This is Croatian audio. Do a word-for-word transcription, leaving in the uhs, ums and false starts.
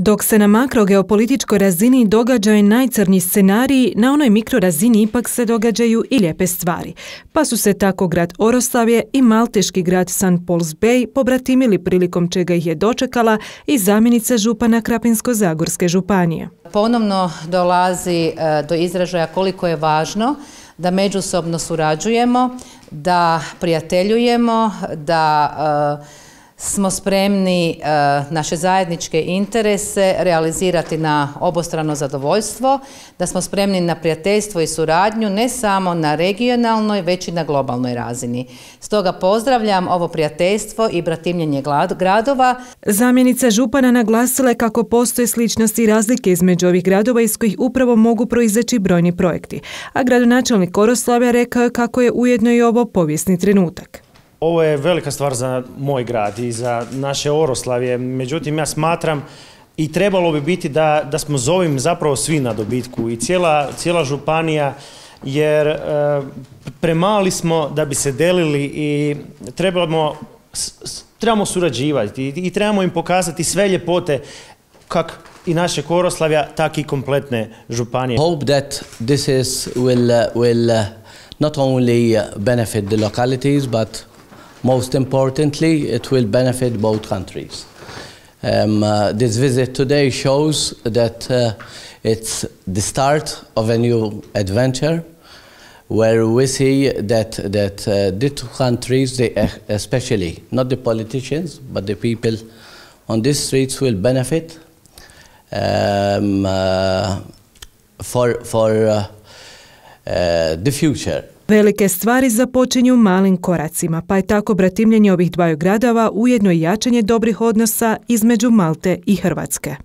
Dok se na makrogeopolitičkoj razini događaju najcrnji scenariji, na onoj mikrorazini ipak se događaju i lijepe stvari. Pa su se tako grad Oroslavje i malteški grad Saint Paul's Bay pobratimili, prilikom čega ih je dočekala i zamjenica župana Krapinsko-zagorske županije. Ponovno dolazi do izražaja koliko je važno da međusobno surađujemo, da prijateljujemo, da smo spremni naše zajedničke interese realizirati na obostrano zadovoljstvo, da smo spremni na prijateljstvo i suradnju ne samo na regionalnoj, već i na globalnoj razini. Stoga pozdravljam ovo prijateljstvo i bratimljenje gradova. Zamjenica župana naglasila je kako postoje sličnosti i razlike između ovih gradova iz kojih upravo mogu proizaći brojni projekti. A gradonačelnik Oroslavja rekao je kako je ujedno i ovo povijesni trenutak. Ovo je velika stvar za moj grad i za naše Oroslavje, međutim ja smatram i trebalo bi biti da, da smo s ovim zapravo svi na dobitku i cijela, cijela županija, jer e, premali smo da bi se delili i trebamo, trebamo surađivati i, i trebamo im pokazati sve ljepote kak i naše Oroslavja, tak i kompletne županije. Hope that this is will, will not only benefit the localities, but most importantly, it will benefit both countries. Um, uh, this visit today shows that uh, it's the start of a new adventure, where we see that that uh, the two countries, they, especially not the politicians, but the people on these streets, will benefit um, uh, for for uh, uh, the future. Velike stvari započinju malim koracima, pa je tako bratimljenje ovih dvaju gradova ujedno i jačanje dobrih odnosa između Malte i Hrvatske.